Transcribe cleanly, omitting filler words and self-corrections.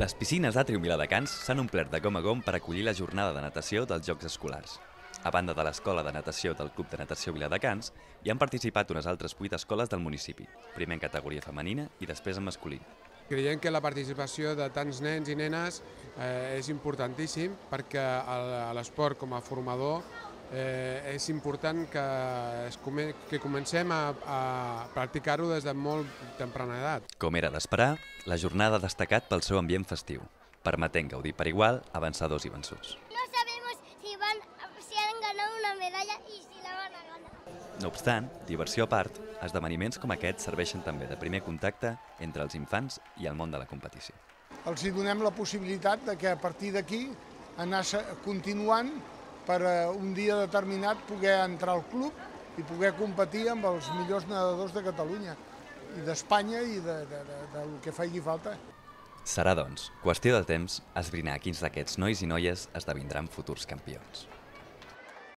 Les piscines d'Atrium Viladecans s'han omplert de gom a gom per acollir la jornada de natació dels Jocs Escolars. A banda de l'Escola de Natació del Club de Natació Viladecans, hi han participat unes altres 8 escoles del municipi, primer en categoria femenina i després en masculina. Creiem que la participació de tants nens i nenes és importantíssim perquè a l'esport com a formador és important que comencem a practicar-ho des de molt temprana edat. Com era d'esperar, la jornada ha destacat pel seu ambient festiu, permetent gaudir per igual a vencedors i vençuts. No sabemos si han ganado una medalla y si la van a ganar. No obstant, diversió a part, esdeveniments com aquest serveixen també de primer contacte entre els infants i el món de la competició. Els hi donem la possibilitat de que a partir d'aquí anar continuant per un dia determinat poder entrar al club i poder competir amb els millors nedadors de Catalunya i d'Espanya i del que faci falta. Serà, doncs, qüestió de temps esbrinar quins d'aquests nois i noies esdevindran futurs campions.